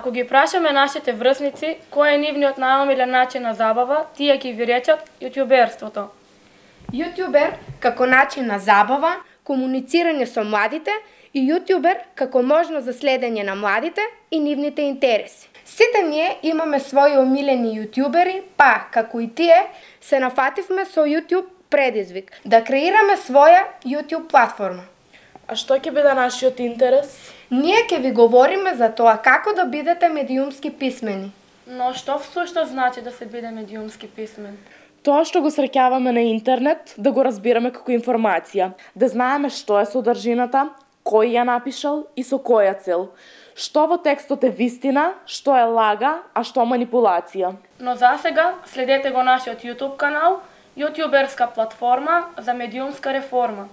Ако ги прашаме нашите врсници кој е нивниот најомилен начин на забава, тие ќе ви речат јутјуберството. Јутјубер како начин на забава, комуницирање со младите и јутјубер како можност за следење на младите и нивните интереси. Сите ние имаме своји омилени јутјубери, па, како и тие, се нафативме со YouTube предизвик да креираме своја YouTube платформа. А што ќе биде нашиот интерес? Ние ќе ви говориме за тоа како да бидете медиумски писмени. Но што всушност значи да се биде медиумски писмен? Тоа што го среќаваме на интернет, да го разбираме како информација, да знаеме што е содржината, кој ја напишал и со која цел. Што во текстот е вистина, што е лага, а што манипулација. Но засега следете го нашиот YouTube канал, јутјуберска платформа за медиумска реформа.